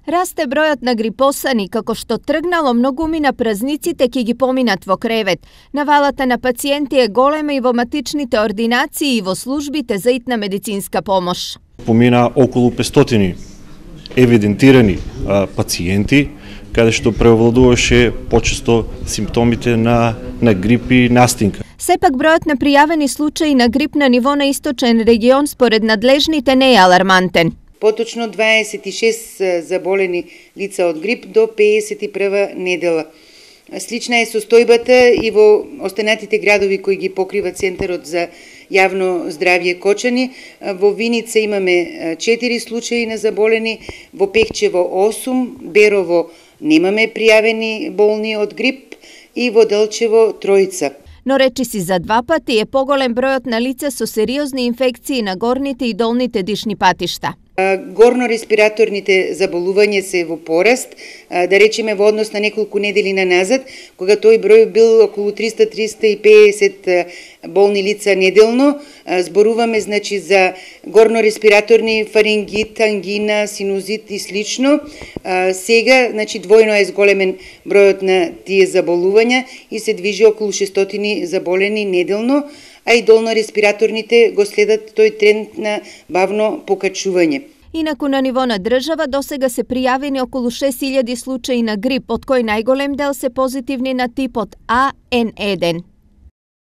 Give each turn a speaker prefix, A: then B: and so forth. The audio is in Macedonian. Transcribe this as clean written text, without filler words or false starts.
A: Расте бројот на грипосани, како што тргнало многумина празниците ќе ги поминат во кревет. Навалата на пациенти е голема и во матичните ординации и во службите за итна медицинска помош.
B: Помина околу 500 евидентирани пациенти, каде што превладуваше почесто симптомите на грип и настинка.
A: Сепак бројот на пријавени случаи на грип на ниво на источен регион според надлежните не е алармантен.
C: Поточно 26 заболени лица од грип до 51 недела. Слична е состојбата и во останатите градови кои ги покрива Центарот за јавно здравје Кочани. Во Виница имаме 4 случаи на заболени, во Пехчево 8, Берово немаме пријавени болни од грип и во Делчево 3.
A: Но речиси за 2 пати е поголем бројот на лица со сериозни инфекции на горните и долните дишни патишта.
C: Горно-респираторните заболувања се во пораст, да речеме во однос на неколку недели назад, кога тој број бил околу 300-350 болни лица неделно. Зборуваме значи за горно-респираторни фарингит, ангина, синузит и слично. Сега значи двојно е зголемен бројот на тие заболувања и се движи околу 600 заболени неделно, а и долно-респираторните го следат тој тренд на бавно покачување.
A: Инаку на ниво на држава досега се пријавени околу 6000 случаи на грип, од кои најголем дел се позитивни на типот А Н1.